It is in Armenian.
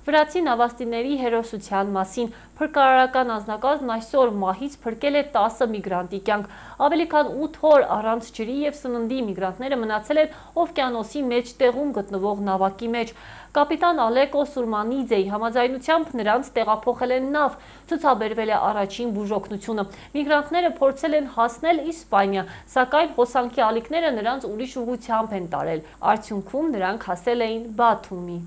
Վրացի նավաստիների հերոսության մասին փրկարարական անձնակազմն այսօր մահից փրկել է 10 միգրանտի կյանք։ Ավելի քան 8 օր առանց ջրի և սննդի միգրանտները մնացել են օվկիանոսի մեջտեղում գտնվող նավակի մեջ։ Կապիտան Ալեկո Սուրմանիձեի համաձայնությամբ նրանց տեղափոխել են նավ, ցուցաբերվել է առաջին բուժօգնությունը։ Միգրանտները փորձել են հասնել Իսպանիա, սակայն հոսանքի ալիքները նրանց ուրիշ ուղղությամբ են տարել։ Արդյունքում նրանք հասել էին Բաթումի։